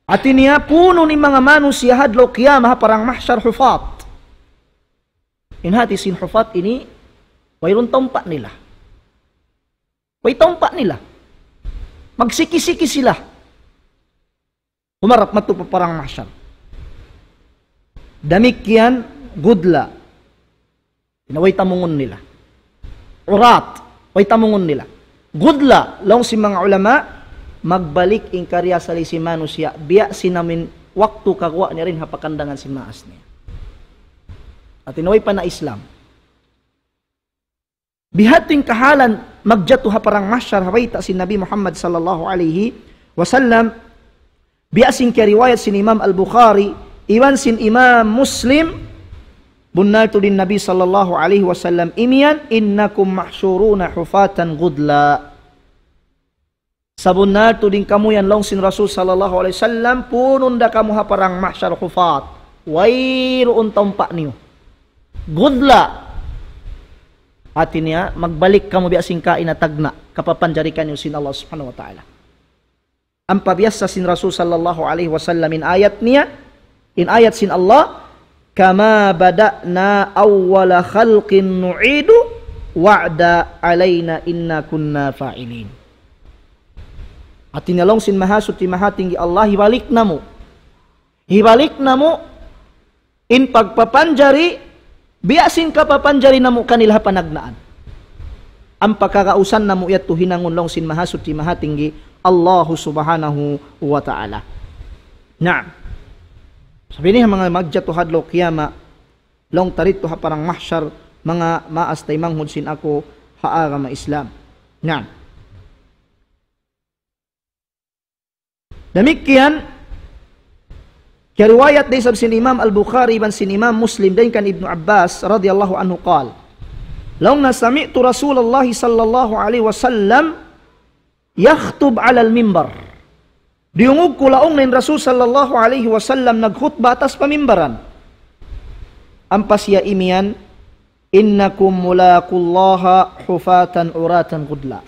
Hati niya, puunun in manga manusiya' ha adlaw qiyamah ha parang mahsyar hufat. In hati sin hufat ini, wayruun tumpa' nila. Way tumpa' nila. Magsiki-siki sila. Humarap madtu pa parang mahsyar. Damikkiyan gudla. Way tamungun nila. Urat, way tamungun nila. Gudla, laung sin manga ulama, magbalik in kariyasali sin manusiya', biya' sin amuin waktu kaguwa' niya dayn ha pakandangan sin maas niya. Hati niya way pa na-Islam. Biya' ha yan in kahalan magjatu ha parang mahsyar ha bayta' sin Nabi Muhammad sallallahu alayhi wasallam, biya' sin kiyariwayat sin Imam Al-Bukhari, iban sin Imam Muslim, bunnal tuud in Nabi sallallahu alayhi wasallam imiyan, إنكم محشورون حفاة غرلا. Sabunnal tuud in kamu yan laung sin Rasul sallallahu alayhi wasallam, punun da kamu ha parang mahsyar hufat. Wayruun taumpa' niyu. Gudla. Hati niya, magbalik kamu biya' sin kaina tagna', kapapanjari kaniyu sin Allah subhanahu wa ta'ala. Ampa biyassa sin Rasul sallallahu alayhi wasallam in ayat niya, in ayat sin Allah, كما بدأنا أول خلق نعيده وعدا علينا إنا كنا فاعلين. Hati niya laung sin Mahasuchi Mahatinggi Allah, hibalik namu'. Hibalik namu' in pagpapanjari, biya' sin kapapanjari namu' kanila ha panagnaan. Ampa kagausan namu' yadtu hinangun laung sin Mahasuchi Mahatinggi, Allahu subhanahu wa ta'ala. Naam. Sabab ini manga magjatu ha adlaw qiyamah, laung ta didtu ha parang mahsyar, manga maas taymanghud sin aku ha agama Islam. Naam. Damikkiyan, kiyariwayat da isab sin Imam Al-Bukhari iban sin Imam Muslim dayn kan Ibnu Abbas radiyallahu anhu qal, laung niya سمعت رسول الله صلى الله عليه وسلم يخطب على المنبر. Diyungug ku laung niya in Rasul sallallahu alayhi wasallam nagkhutba atas pamimbaran. Ampa siya imiyan, إنكم ملاقو الله حفاة عراة غرلا.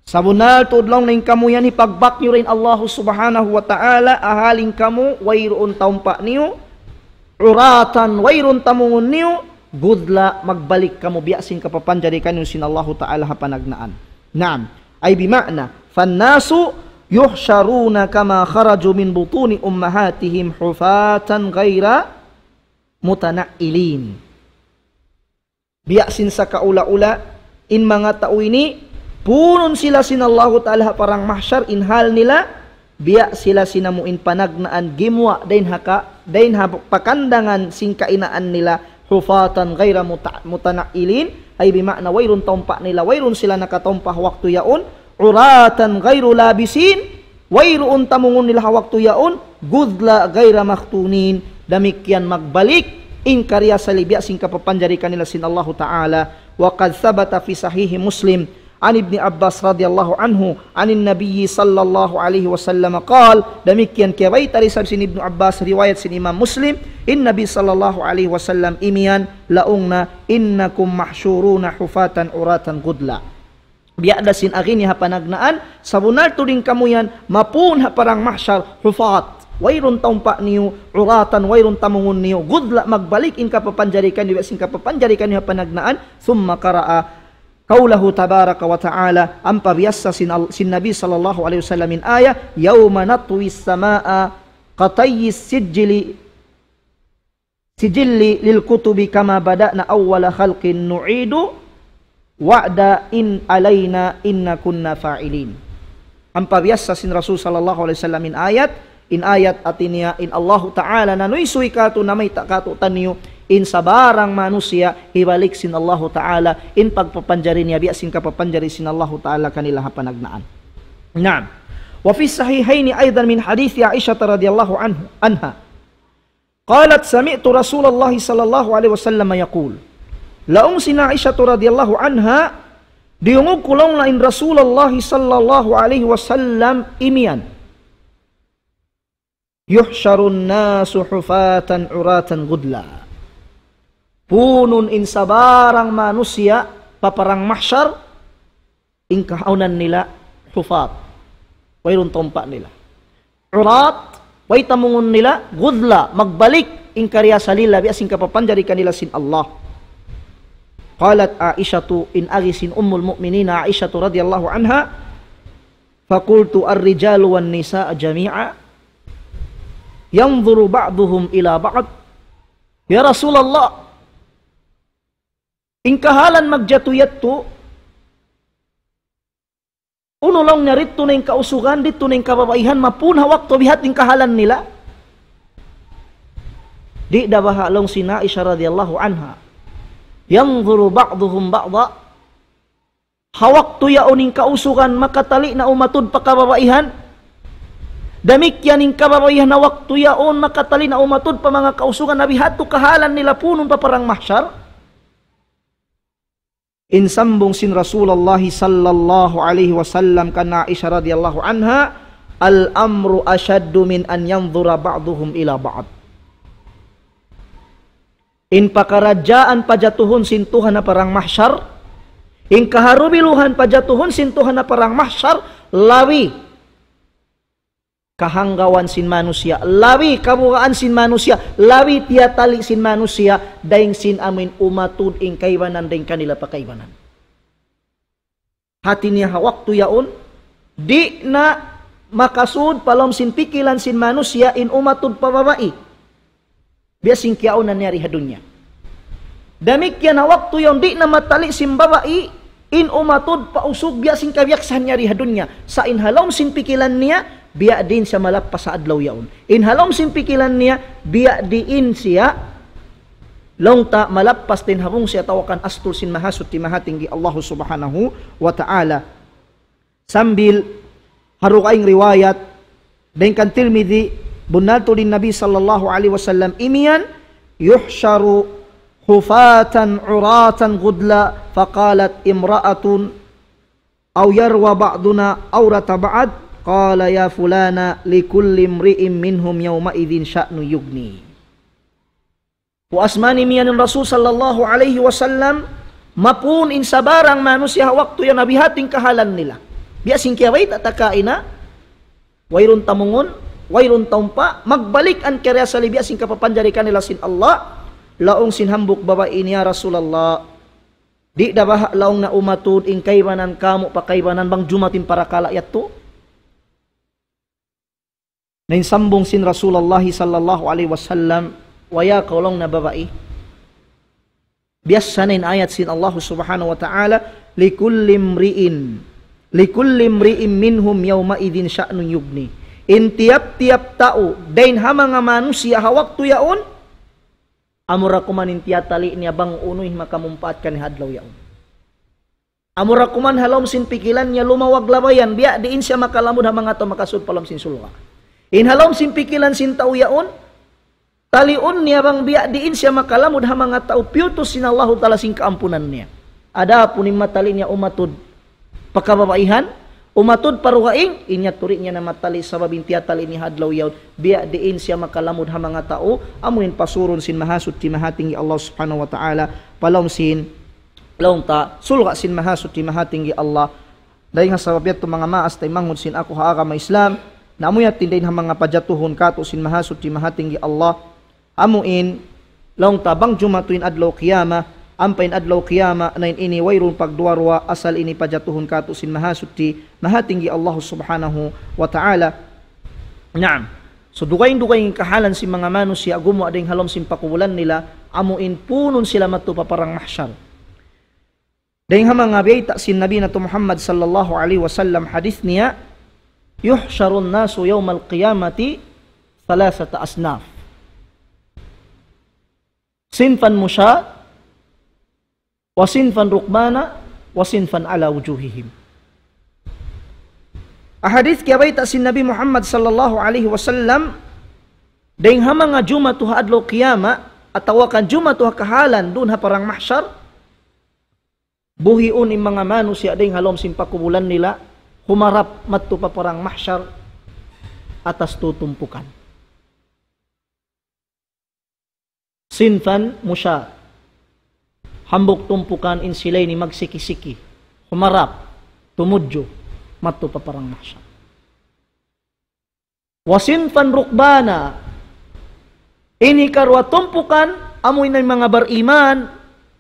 Sabunnal tuud laung niya in kamu yan hipagbak niyu dayn Allahu subhanahu wa ta'ala, ahal in kamu, wayruun taumpa' niyu, uratan, wayruun tamungun niyu, gudla, magbalik kamu biya' sin kapapanjari kaniyu sin Allahu ta'ala ha panagnaan. Naam, ay bima'na, فالناس يحشرون كما خرجوا من بطون أمهاتهم حفاة غير متنعلين. Biya' sin sakaula-ula, in manga tau ini, punun sila sin Allahu ta'ala ha parang mahsyar, in hal nila, biya' sila sin amu in panagnaan gimuwa' dayn ha ka, dayn ha pakandangan sin kainaan nila, حفاة غير مت-, متنعلين, ay bima'na wayruun taumpa' nila, wayruun sila nakataumpa' waktu yaun, عراة غير لابسين, wayruun tamungun nila ha waktu yaun, غرلا غير مختونين, damikkiyan magbalik in kariyasali biya' sin kapapanjari kanila sin Allahu ta'ala. وقد ثبت في صحيح مسلم عن ابن عباس رضي الله عنه عن النبي صلى الله عليه وسلم قال, damikkiyan kiyabayta' da isab sin Ibnu Abbas, riwayat sin Imam Muslim, in Nabi sallallahu alayhi wasallam imiyan, laung niya, إنكم محشورون حفاة عراة غرلا. Biya' da sin agi niya ha panagnaan, sabunnal tuud in kamu yan, mapun ha parang mahsyar, hufat, wayruun taumpa' niyu, uratan, wayruun tamungun niyu, gudla, magbalik in kapapanjari kaniyu, biya' sin kapapanjari kaniyu ha panagnaan, ثم قرأ قوله تبارك وتعالى, ampa biyassa sin Al-, sin Nabi sallallahu alayhi wasallam in ayat, يوم نطوي السماء كطي السجل سجل للكتب كما بدأنا أول خلق نعيده وعدا علينا إنا كنا فاعلين. Ampa biyassa sin Rasul sallallahu alayhi wasallam in ayat, in ayat hati niya, in Allahu ta'ala nanuysuy katu', namayta' katu'taniyu, in sabarang manusiya', hibalik sin Allahu ta'ala, in pagpapanjari niya, biya' sin kapapanjari sin Allahu ta'ala kanila ha panagnaan. Naam. وفي الصحيحين أيضا من حديث عائشة رضي الله عنه، عنها. قالت سمعت رسول الله صلى الله عليه وسلم يقول. Laung sin Aisha radiyallahu anha, diyungug ku laung niya in Rasulullah sallallahu alayhi wasallam imiyan. يحشر الناس حفاة عراة غرلا. Punun in sabarang manusiya' pa parang mahsyar, in kahaunan nila hufat. Wayruun taumpa' nila. Urat, way tamungun nila, gudla, magbalik in kariyasali nila, biya' sin kapapanjari kanila sin Allah. قالت عائشة, in agi sin Ummul Mu'minin Aisha radiyallahu anha, فقلت الرجال والنساء جميعا ينظر بعضهم إلى بعض. Ya Rasulullah, In kahalan magjatu yadtu, unu laung niya, didtu na in kausugan, didtu na in kababaihan, mapun ha waktu biya' ha yan in kahalan nila. Di' da baha' laung sin Aisha radiyallahu anha. ينظر بعضهم بعضا. Ha waktu yaun in kausugan makatali na umatud pa kababaihan. Damikkiyan in kababaihan ha waktu yaun makatali na umatud pa manga kausugan, na biya' hādtu kahalan nila punun pa parang mahsar. In sambung sin Rasulullah sallallahu alayhi wasallam kan Aisha radiyallahu anha, الأمر أشد من أن ينظر بعضهم إلى بعض. In pakaradjaan pajatuhun sin Tuhan ha parang mahsar, in kaharubiluhan pajatuhun sin Tuhan ha parang mahsar, labi kahanggawan sin manusiya', labi kabugaan sin manusiya', labi tiyatali sin manusiya', dayn sin amuin umatud in kaibanan dayn kanila pa kaibanan. Hāti niya ha waktu yaun, di' na makasud pa lawm sin pikilan sin manusiya' in umatud pa babai. Biya' sin kiyaunan niya di ha dunya. Damikkiyan ha waktu yaun di' na matali sin babai, in umatud pa usug biya' sin kabiyaksahan niya di ha dunya. Sa' in ha lawm sin pikilan niya, biya' diin siya malappas ha adlaw yaun. In ha lawm sin pikilan niya, biya' diin siya laung ta malappas dayn ha bungsi atawa kan astur sin Mahasuchi Mahatinggi Allah Subhanahu wa Ta'ala. Sambil ha dugaing riwayat, dayn kan Tirmidhi, bunnal tuud in Nabi sallallahu alayhi wasallam imiyan, يحشر حفاة عراة غرلا فقالت امرأة أو يروى بعضنا عورة بعض قال يا فلانة لكل امرئ منهم يومئذ شأن يغنيه. Puas man imiyan in Rasul sallallahu alayhi wasallam, mapun in sabarang manusiya' ha waktu yan na biya' ha yan in kahalan nila. Biya' sin kiyabayta' ta kaina, wayruun tamungun, wayruun taumpa, magbalik an kariya sali biya' sin kapapanjari kanila sin Allah, laung sin hambuuk babai niya, "Ya Rasulullah, di' da baha' laung na umatud in kaibanan kamu' pa kaibanan bang jumatu in parakala' yadtu?" Na in sambung sin Rasulullah sallallahu alayhi wasallam, "Way kaw laung na babai. Biyassa na in ayat sin Allah Subhanahu wa Ta'ala, لكل امرئ، لكل امرئ منهم يومئذ شأن يغنيه." In tiyap-tiyap tau, dayn ha manga manusiya' ha waktu yaun, amura kuman in tiyatali niya bang unu in makamumpaat kaniya ha adlaw yaun. Amura kuman ha lawm sin pikilan niya lumawag labayan, biya' diin siya makalamud ha manga tau makasud pa lawm sin surga'. In ha lawm sin pikilan sin tau yaun, taliun niya bang biya' diin siya makalamud ha manga tau piyutus sin Allahu Ta'ala sin kaampunan niya. Adapun in matali niya umatud pa kababaihan, umatud pa dugaing, in yadtu di' niya na matali sabab in tiyatali niya ha adlaw yaun, biya' diin siya makalamud ha manga tau, amu in pasurun sin Mahasuchi Mahatinggi Allah Subhanahu wa Ta'ala, pa lawm sin laung ta, surga' sin Mahasuchi Mahatinggi Allah. Dayn ha sabab yadtu manga maas taymanghud sin aku ha agama Islam, na amu yadtu in dayn ha manga pajatuhun kātu' sin Mahasuchi Mahatinggi Allah. Amu in, laung ta bang jumatu in adlaw qiyamah, ampa in adlaw qiyamah, na in ini wayruun pagduwa-ruwa, asal ini pajatuhun kātu' sin Mahasuchi Mahatinggi Allah Subhanahu wa Ta'ala. Naam. So, dugaing-dugaing in kahalan sin manga manusiya' gumuwa' dayn ha lawm sin pakubulan nila, amu in punun sila madtu pa parang mahsar. Dayn ha manga biyayta' sin Nabi natu' Muhammad sallallahu alayhi wasallam hadith niya, يحشر الناس يوم القيامة ثلاثة أصناف. صنفا مشاة، وصنفا ركبانا، وصنفا على وجوههم. Ha hadith kiyabayta' sin Nabi Muhammad sallallahu alayhi wasallam, dayn ha manga jumatu ha adlaw qiyamah, atawa kan jumatu ha kahalan duun ha parang mahsar, buhiun in manga manusiya' dayn ha lawm sin pakubulan nila, humarap madtu pa parang mahsar, atas tu tumpukan. صنفا مشاة. Hambuuk tumpukan in sila ini magsiki-siki. Humarap, tumudju, madtu pa parang mahsar. وصنفا ركبانا. In hikaruwa tumpukan, amu in manga bariman,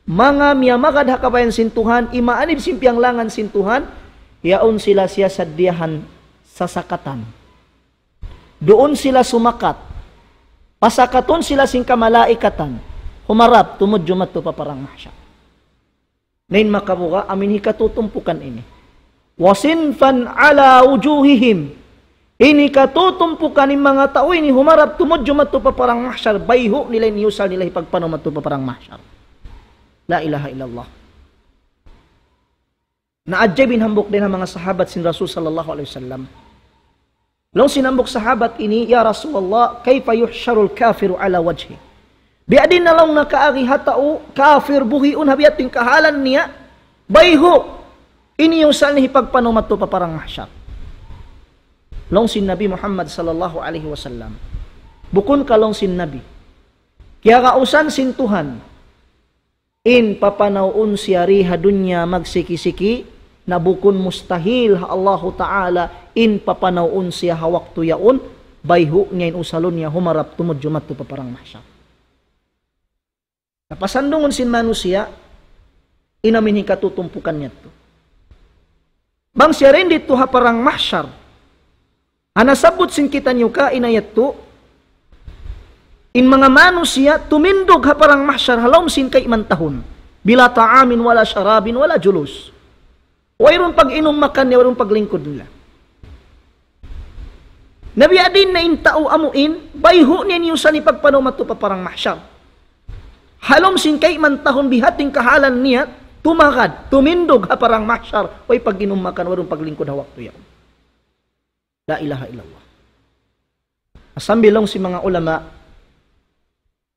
manga miyamagad ha kabayaan sin Tuhan, imaanib sin piyanglangan sin Tuhan, yaun sila siyasaddiyahan sasakatan. Duun sila sumakat. Pasakatun sila sin kamalaikatan. Humarap, tumudju madtu pa parang mahsar. Na in makabuga', amu in hikatutumpukan ini. وصنفا على وجوههم. In hikatutumpukan in manga tau ini humarap tumudju madtu pa parang mahsyar, bayhu' nila in iyusal nila hipagpanaw madtu pa parang mahsyar. La ilaha illallah. Naajaib in hambuuk dayn ha manga sahabat sin Rasul sallallahu alayhi wasallam. Laung sin hambuuk sahabat ini, "Ya Rasulullah, كيف يحشر الكافر على وجهه؟" Biya' diin na laung na kaagi ha tau kafir buhiun ha biya' ha yan kahalan niya, bayhu' in iyusal niya hipagpanaw madtu pa parang mahsyar. Laung sin Nabi Muhammad sallallahu alayhi wasallam, bukun ka laung sin Nabi, kiyagausan sin Tuhan, in papanawun siya di ha dunya magsiki-siki, na bukun mustahil ha Allahu Ta'ala, in papanawun siya ha waktu yaun, bayhu' niya in usalun niya humarap tumudju madtu pa parang mahsyar. Na pasandungun sin manusiya', in amu in hikatutumpukan niya yadtu. Bang siya dayn didtu ha parang mahsyar, ha nasabbut sin kitaniyu kaina yadtu, in manga manusiya' tumindug ha parang mahsyar ha lawm sin kaiman tahun. بلا طعام ولا شراب ولا جلوس. Wayruun pag-inum makan nila, wayruun paglingkud nila. Na biya' diin na in tau amu in, bayhu' niya in iyusal niya hipagpanaw madtu pa parang mahsyar. Ha lawm sin kaiman tahun biya' ha yan kahalan niya, tumagad, tumindug ha parang mahsyar, way pag-inum makan, wayruun paglingkud ha waktu yaun. La ilaha illallah. Sambil laung sin manga ulama,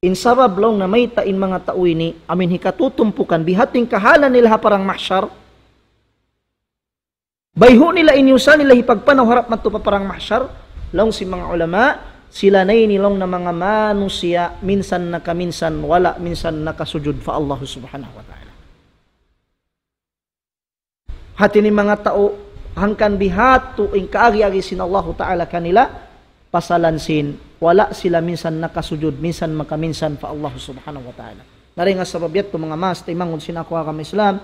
in sabab laung na mayta' in manga tau ini, amu in hikatutumpukan, biya' ha yan kahalan nila ha parang mahsyar, bayhu' nila in iyusal nila hipagpanaw harap madtu pa parang mahsyar, laung sin manga ulama, sila na ini laung na manga manusiya', minsan nakaminsan, wala' minsan nakasujud pa Allah subhanahu wa ta'ala. Hati niya manga tau, hangkan biya' hādtu in kaagi-agi sin Allahu Ta'ala kanila, pasalan sin, wala' sila minsan nakasujud, minsan makaminsan pa Allah Subhanahu wa Ta'ala. Na dayn ha sabab yadtu manga maas taymanghud sin aku agama Islam,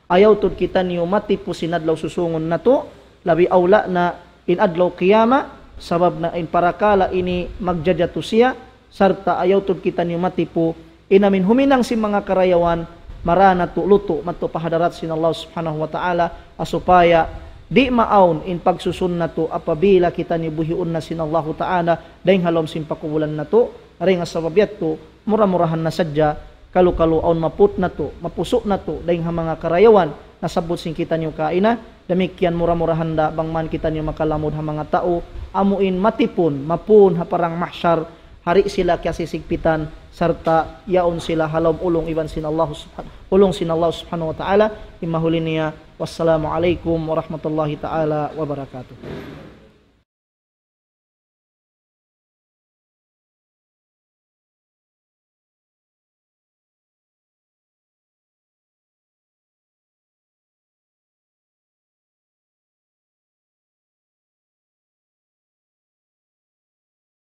ayaw tuud kitaniyu matipu sin adlaw susūngun natu', labi awla na in adlaw qiyamah, sabab na in parakala' ini magjajatu siya, sarta' ayaw tuud kitaniyu matipu, in amu in huminang sin manga karayawan, mara natu' lutu' madtu pa hadarat sin Allah Subhanahu wa Ta'ala, ha supaya di' maawn in pagsusun natu' apabila kitaniyu buhiun na sin Allahu Ta'ala, dayn ha lawm sin pakubulan natu', dayn ha sabab yadtu, mura-murahan na sadja, kalu-kalu awn maput natu', mapusu' natu', dayn ha manga karayawan, nasabbut sin kitaniyu kaina, damikkiyan mura-murahan da bang man kitaniyu makalamud ha manga tau, amu in matipun, mapun ha parang mahsyar, ha di' sila kiyasisigpitan, sarta' yaun sila ha lawm ulung iban sin Allah Subhan-, ulung sin Allah Subhanahu wa Ta'ala, in mahuli niya, wassalamu alaykum warahmatullahi ta'ala wabarakatuh.